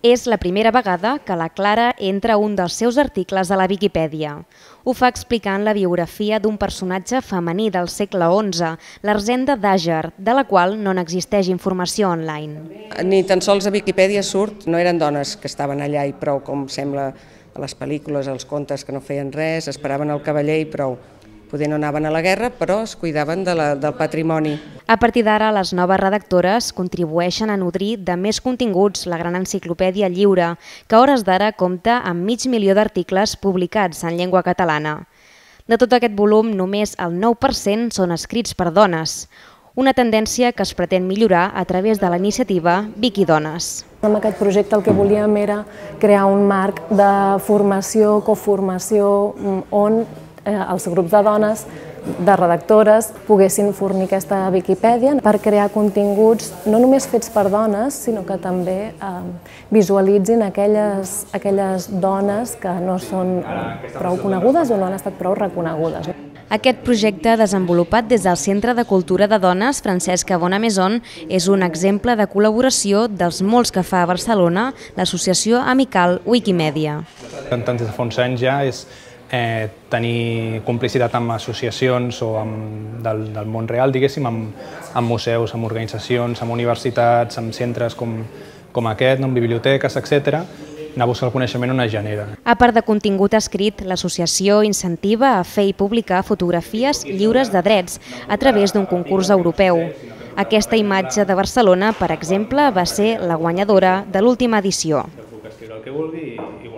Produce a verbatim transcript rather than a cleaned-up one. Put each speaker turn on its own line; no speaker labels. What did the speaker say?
És la primera vegada que la Clara entra un dels seus articles a la Viquipèdia. Ho fa explicant la biografia d'un personatge femení del segle onze, l'Erzenda d'Àger, de la qual no n'existeix informació online.
Ni tan sols a Viquipèdia surt, no eren dones que estaven allà i prou, com sembla a les pel·lícules, als contes, que no feien res, esperaven el cavaller i prou. Poder no anaven a la guerra, però es cuidaven de la, del patrimoni.
A partir d'ara, les noves redactores contribueixen a nodrir de més continguts la gran enciclopèdia lliure, que a hores d'ara compta amb mig milió d'articles publicats en llengua catalana. De tot aquest volum, només el nou per cent són escrits per dones, una tendència que es pretén millorar a través de la iniciativa Viquidones.
Amb aquest projecte el que volíem era crear un marc de formació, coformació, on els grups de dones, de redactores, poguessin fornir aquesta Viquipèdia per crear continguts no només fets per dones, sinó que també visualitzin aquelles, aquelles dones que no són prou conegudes o no han estat prou reconegudes.
Aquest projecte, desenvolupat des del Centre de Cultura de Dones Francesca Bonamaison, és un exemple de col·laboració dels molts que fa a Barcelona l'associació amical Wikimedia.
Tant des de fa uns anys ja és Eh, tenir complicitat amb associacions o amb, del, del món real, diguéssim, amb, amb museus, amb organitzacions, amb universitats, amb centres com, com aquest, no, amb biblioteques, etcètera, anar a buscar el coneixement on es genera.
A part de contingut escrit, l'associació incentiva a fer i publicar fotografies lliures de drets a través d'un concurs europeu. Aquesta imatge de Barcelona, per exemple, va ser la guanyadora de l'última edició.
Puc escriure el que vulgui i